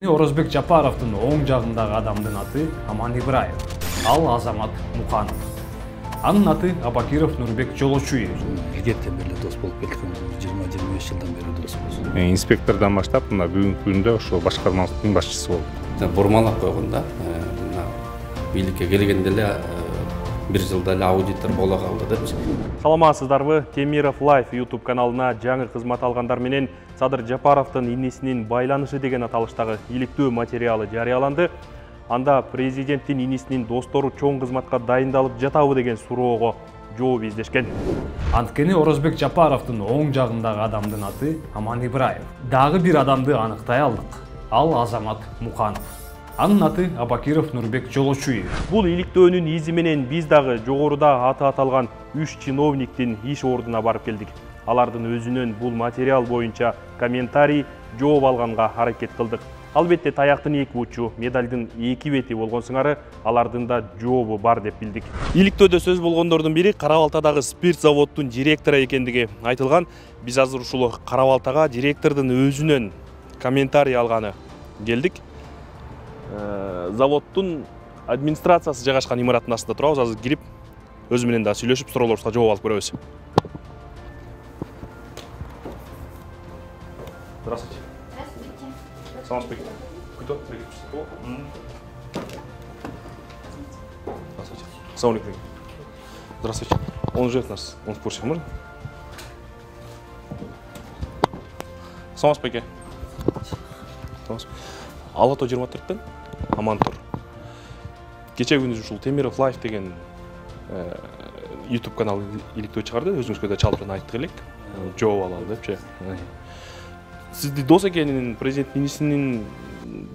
Орозбек Жапаровдун оң жагындагы адамдын аты Аман Ибраев, ал Азамат Муканов. Анын аты Абакиров Нурбек Жолочуев. Илгертен бери дос болуп келдик, 20-25 жылдан бери доспуз. Инспектордон баштап мына бүгүнкү күндө ошо башкармабыздын башчысы болдум. Бурмалап койгондо мына бийликке келгенде эле бир жылда эле аудитор боло калды депчи. Саламатсыздарбы? Темиров Life YouTube каналына жаңы кызмат алгандар менен Садыр Жапаровдун инисинин байланышы деген аталыштагы иликтөө материалы жарыяланды. Анда президенттин инисинин достору чоң кызматка дайындалып жатабы деген суроого жооп издешкен. Анткени Орозбек Жапаровдун оң жагындагы адамдын аты Аман Ибраев. Дагы бир адамды аныктай алдык. Ал Азамат Муканов. Анын аты Абакиров Нурбек Жолочуев. Бул иликтөөнүн изи менен биз дагы жогоруда аты аталган 3 чиновниктин иш ордуна барып келдик. Алардын өзүнөн бул материал боюнча комментарий, жооп алганга аракет кылдык. Албетте таяктын эки учу, медалдын эки бети болгон сыңары алардын да жообу бар деп билдик. Иликтөөдө сөз болгондордун бири Кара-Балтадагы спирт заводдун директору экендиги айтылган. Биз азыр ушул Кара-Балтага директордун өзүнөн комментарий алганы келдик. Заводдун администрациясы жайгашкан имараттын астында турабыз. Азыр кирип өзү менен да сүйлөшүп суроолорубузга жооп алып көрөбүз. Здравствуйте. Здравствуйте. Здравствуйте. Кто? Здравствуйте. Салам алейкум. Здравствуйте. Он живет у нас. Он в курсе, можно? Салам алейкум. Алато 24-тен Аман тур. Кече күнү ушул Темиров Life деген YouTube канал иликтөө чыгарды. Өзүңүзгө да чалбырын айттык элек. Жооп алалы депчи. Сизди дос экенин, президенттин инисинин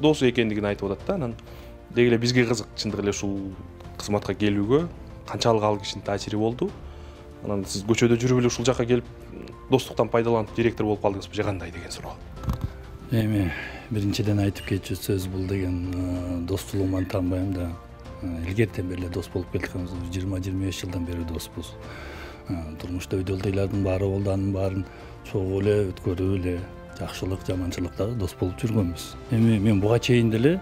досу экендигин айтып атат да. Анан деги эле бизге кызык, чындык эле ушул кызматка келүүгө канчалык ал кишинин таасири болду. Анан сиз көчөдө жүрүп эле ушул жакка келип достуктан пайдаланып директор болуп калдыңызбы же кандай деген суроо. Эми биринчиден айтып кетчү сөз бул деген достуулугуман таанбайм да. Илгертен бери дос болуп келдик, 20-25 жылдан бери доспуз. Турмушта өйдөлдөйлөрдүн баары болду, анын баарын чогуу эле өткөрүп эле жакшылык, жаманчылыкта дос болуп жүргөнбүз. Эми мен буга чейин деле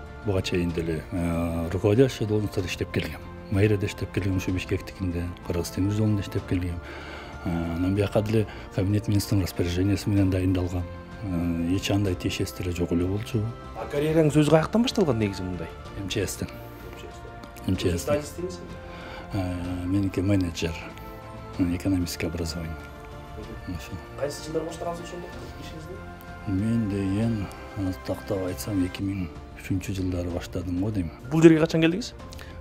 руководящий должностьта иштеп келгем. Мэрияда иштеп келгем, ушу Бишкектикинде, Кыргыз темир жолунда иштеп келгем. Анан бияка деле кабинет министринин распоряжениясы менен дайындалгам. Эч андай тиешеси деле жок эле болчу. Карьераңыз өзү каяктан башталган негизи мындай? МЧСтен. Меники менеджер, экономическое образование. Кайсы жылдары баштагансыз ошондо ишиңизди? Мен деген тактап айтсам 2003 жылдары баштадым го дейм. Бул жерге качан келдиңиз?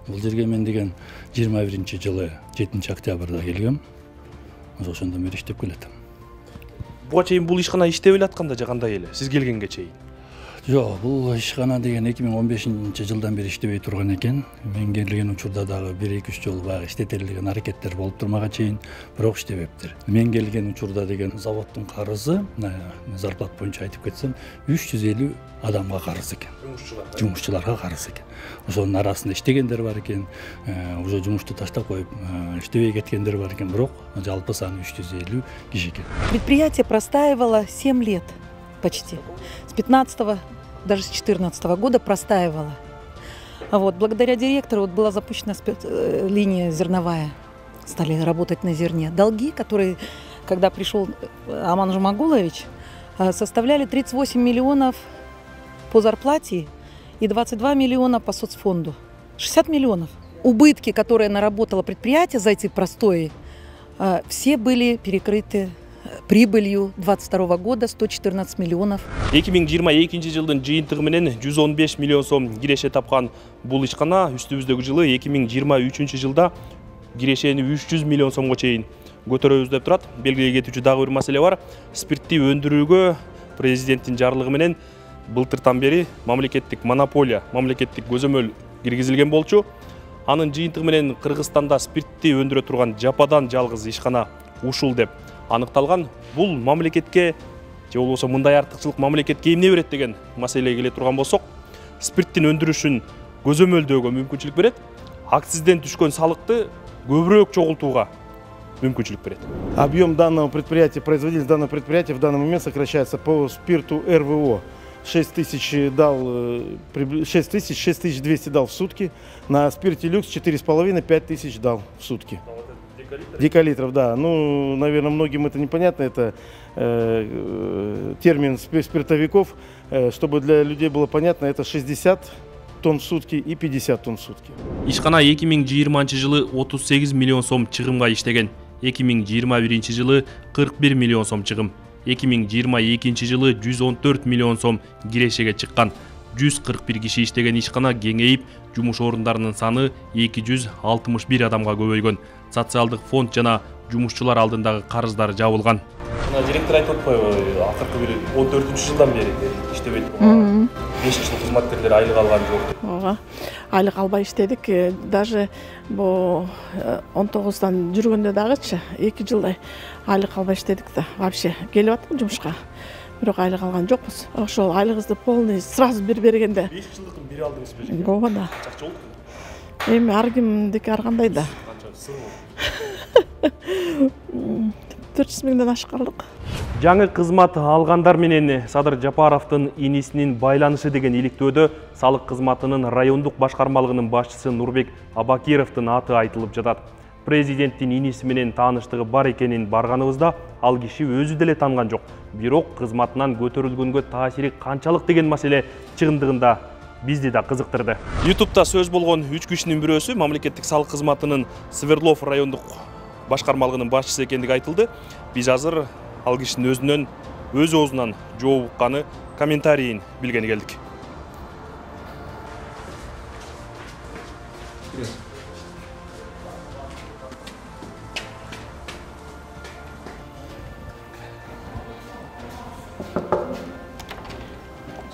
Бул жерге мен деген 21-жылы 7-октябрда келгем. Ошондон бери иштеп келатам. Буга чейин бул ишкана иштеп эле атканда же кандай эле? Сиз келгенге чейин? Жок, бул ишкана деген 2015-жылдан бери иштебей турган экен. Мен келген учурда дагы 1-2 жолу баягы иштетели деген аракеттер болуп турмага чейин, бирок иштебептир. Мен келген учурда деген заводдун карызы, зарплат боюнча айтып кетсем, 350 адамга карыз экен. Жумушчуларга карыз экен. Ошонун арасында иштегендер бар экен, уже жумушту таштап коюп, иштебей кеткендер бар экен, бирок жалпы саны 350 киши экен. Предприятие простаивало 7 лет почти. С 15-го, даже с 14-го года простаивало. Благодаря директору была запущена линия зерновая. Стали работать на зерне. Долги, которые, когда пришел Аман Жумагулович, составляли 38 миллионов по зарплате и 22 миллиона по соцфонду. 60 миллионов. Убытки, которые наработало предприятие за эти простои, все были перекрыты прибылью 22 года 114 миллионов. 2022 жылдын жыйынтыгы менен 115 миллион сом киреше тапкан бул ишкана үстүбүздөгү жылы 2023 жылда кирешени 300 миллион сомго чейин көтөрөбүз деп турат. Белгилей кетүүчү дагы бир маселе бар. Спиртти өндүрүүгө президенттин жарлыгы менен былтыртан бери мамлекеттик монополия, мамлекеттик көзөмөл киргизилген болчу. Анын жыйынтыгы менен Кыргызстанда спиртти өндүрө турган жападан жалгыз ишкана ушул деп аныкталган. Бул мамлекетке же болбосо мындай артыкчылык мамлекетке эмне берет деген маселеге келе турган болсок, спирттин өндүрүшүн көзөмөлдөөгө мүмкүнчүлүк берет. Акцизден түшкөн салыкты көбүрөөк чогултууга мүмкүнчүлүк берет. Объем данного предприятия, производительность данного предприятия в данный момент сокращается по спирту РВО. 6000 дал, 6200 дал в сутки. На спирте люкс 4,5-5 000 дал в сутки. Декалитров, да. Ну, наверное, многим это непонятно. Это термин спиртовиков. Чтобы для людей было понятно, это 60 тонн в сутки и 50 тонн в сутки. Ишкана 2020 жылы 38 миллион сом чыгымга иштеген. 2021 жылы 41 миллион сом чыгым. 2022 жылы 114 миллион сом кирешеге чыккан. 141 киши иштеген ишкана кеңейип, жумуш орундарынын саны 261 адамга көбөйгөн. Социалдык фонд жана жумушчулар алдындагы карыздары жабылган. Директор айтып атпайбы, акыркы бир 14-жылдан бери иштебейт. 5 жыл кызматкерлер айлык алган жок. Ооба. Айлык албай иштедик. Даже бу 19-дан жүргөндө дагычы 2 жылдай айлык албай иштедик да. Вообще келип аттым жумушка. Бирок айлык алган жокпуз. Ошол айлыгыбызды полный сразу бергенде. 5 жылдыкын бири алдыңыз бе? Ооба да. Чакча болду. Эми ар кимдики ар кандай да. 400 миңден ашкарлык. Жаңы кызмат алгандар менен Садыр Жапаровдун инисинин байланышы деген иликтөөдө салык кызматынын райондук башкармалыгынын башчысы Нурбек Абакировдун аты айтылып жатат. Президенттин иниси менен тааныштыгы бар экенин барганыбызда ал киши өзү деле танган жок. Бирок кызматынан көтөрүлгөнгө таасири канчалык деген маселе чыгымдыгында бизди да кызыктырды. YouTube'да сөз болгон 3 кишинин бирөөсү мамлекеттик салык кызматынын Свердлов райондук башкармалыгынын башчысы экендиги айтылды. Биз азыр ал кишинин өзүнөн өз оозунан жооп укканы комментарийин билгени келдик.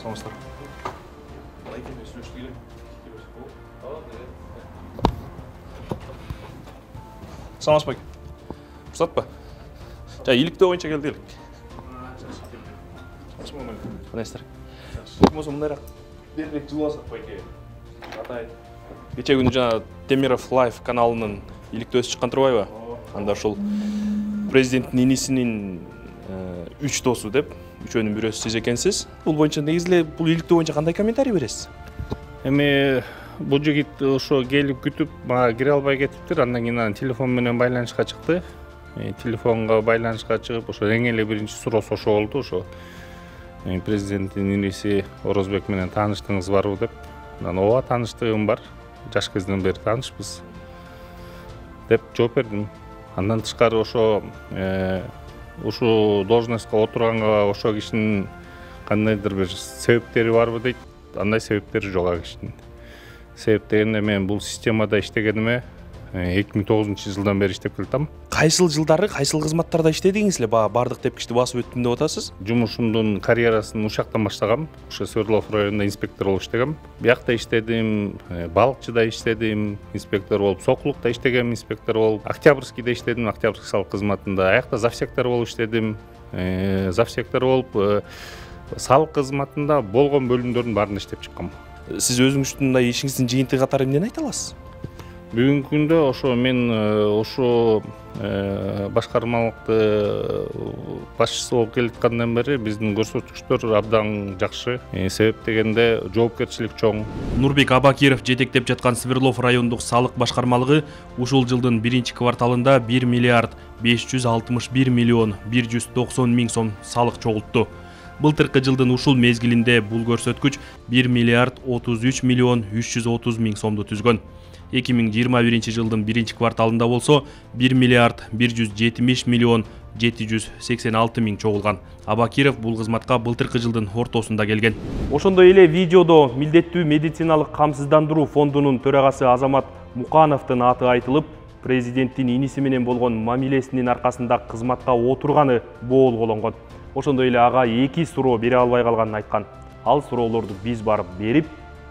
Саламатсыздар. Саламатсыз байке. Уруксат ба? Жа иликтөө боюнча келдик. Кандайсыздар? Болсо мындайраак берирээк жылып алсак байке. Атайын. Кече күнү жана Темиров Лайв каналынын иликтөөсү чыккан турбайбы? Анда ушул президенттин инисинин 3 досу деп, үчөөнүн бирөөсү сиз экенсиз. Бул боюнча негизи бул иликтөө боюнча кандай комментарий бересиз? Эми бул жигит ошо келип күтүп, мага кире албай кетиптир. Андан кийин анан телефон менен байланышка чыкты. Телефонго байланышка чыгып, ошо эң эле биринчи суроосу ошо болду. Ошо президенттин иниси Орозбек менен тааныштыгыңыз барбы деп. Анан ооба тааныштыгым бар. Жаш кезинен бери таанышпыз деп жооп бердим. Андан тышкары ошо ушул должностько отурганга ошо кишинин кандайдыр бир себептери барбы дейт. Андай себептери жок а кишинин. Себеп дегенде мен бул системада иштегениме 2009 жылдан бери иштеп келатам. Кайсыл жылдары, кайсыл кызматтарда иштедиңиз эле? Бардык тепкичти басып өттүм деп атасыз? Жумушумдун карьерасын ушактан баштагам. Ошо Свердлов районунда инспектор болуп иштегем. Биякта иштедим, балыкчыда иштедим, инспектор болуп, Сокулукта иштегем, инспектор болуп, Октябрьскийде иштедим, Октябрьский салык кызматында. Аякта завсектор болуп иштедим, завсектор болуп, салык кызматында болгон бөлүмдөрдүн баарында иштеп чыккам. Сиз өзүңүздүн мындай ишиңиздин жыйынтыгы катары эмнени айта аласыз? Бүгүнкү күндө ошо мен ошо башкармалыкты башчысы болуп келаткандан бери биздин көрсөткүчтөр абдан жакшы. Себеп дегенде жоопкерчилик чоң. Нурбек Абакиров жетектеп жаткан Свердлов райондук салык башкармалыгы ушул жылдын 1-кварталында 1 миллиард 561 миллион 190 миң сом салык чогултту. Былтыркы жылдын ушул мезгилинде бул көрсөткүч 1 миллиард 33 миллион 330 миң сомду түзгөн. 2021 жылдын 1-кварталында болсо 1 миллиард 170 миллион 786 миң чогулган. Абакиров бул кызматка былтыркы жылдын ортосунда келген. Ошондой эле видеодо милдеттүү медициналык камсыздандыруу фондунун төрагасы Азамат Мукановдун аты айтылып, президенттин иниси менен болгон мамилесинин аркасында кызматка отурганы боолголонгон. Ошондой эле ага 2 суроо бере албай калганын айткан. Ал суроолорду биз барып берип,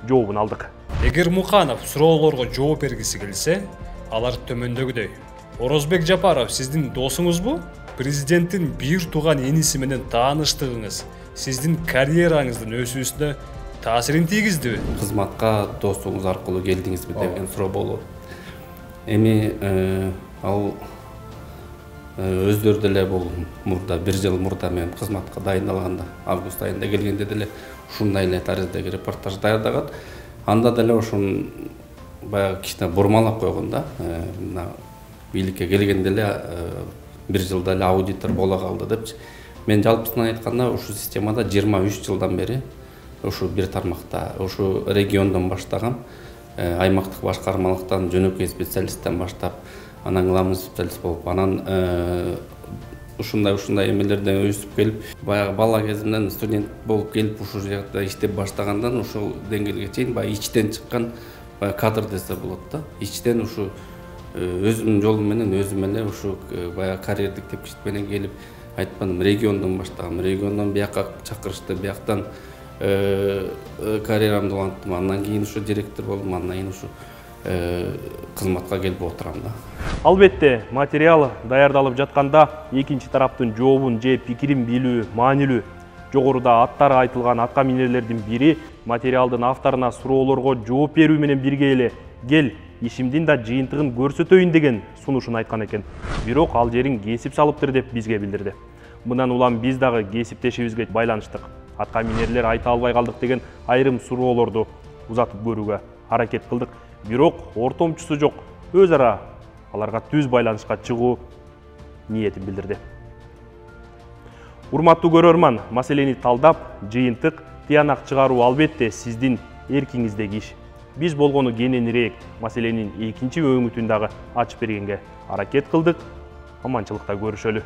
жообун алдык. Эгер Муканов суроолорго жооп бергиси келсе, алар төмөндөгүдөй. Орозбек Жапаров сиздин досуңузбу? Президенттин бир тууган иниси менен тааныштыгыңыз сиздин карьераңыздын өсүүсүнө таасирин тийгиздиби? Кызматка достугуңуз аркылуу келдиңизби деген суроо болду. Эми ал өздөрү деле бул мурда 1 жыл мурда мен кызматка дайындалганда, август айында келгенде деле ушундай эле тариздеги репортаж даярдагат. Анда деле ошон баягы кичине бурмалап койгон да. Мына бийликке келгенде эле бир жылда эле аудитор боло калды депчи. Мен жалпысынан айтканда ушул системада 23 жылдан бери ушу бир тармакта, ушу региондон баштаган, аймактык башкармалыктан жөнөкөй специалисттен баштап, анан главный специалист болуп, анан ушундай эмелерден өсүп келип, баягы бала кезимден студент болуп келип ушул жакта иштеп баштагандан ушул деңгээлге чейин баягы ичтен чыккан кадр десе болот да. Ичтен ушу өзүмдүн жолум менен өзүм эле ушу баягы карьердик тепкичт менен келип, айтпадым, региондон баштагам, региондон бияка чакырышты, бияктан карьерамды уланттым, андан кийин ушу директор болдум, андан кийин ушу кызматка келип отурам да. Албетте, материал даярдалып жатканда экинчи тараптын жообун же пикирин билүү маанилүү. Жогоруда аттары айтылган атка минерлердин бири материалдын авторуна суроолорго жооп берүү менен бирге эле кел ишимдин да жыйынтыгын көрсөтөйүн деген сунушун айткан экен. Бирок ал жерин кесип салыптыр деп бизге билдирди. Мындан улам биз дагы кесиптешибизге байланыштык. Атка минерлер айта албай калдык деген айрым суроолорду узатып көрүүгө аракет кылдык. Бирок ортомчусу жок, өз ара аларга түз байланышка чыгуу ниетин билдирди. Урматтуу көрөрман, маселени талдап, жыйынтык, тыянак чыгаруу албетте сиздин эркиңиздеги иш. Биз болгону кененирээк маселенин экинчи өңүтүн дагы ачып бергенге аракет кылдык. Аманчылыкта көрүшөлү.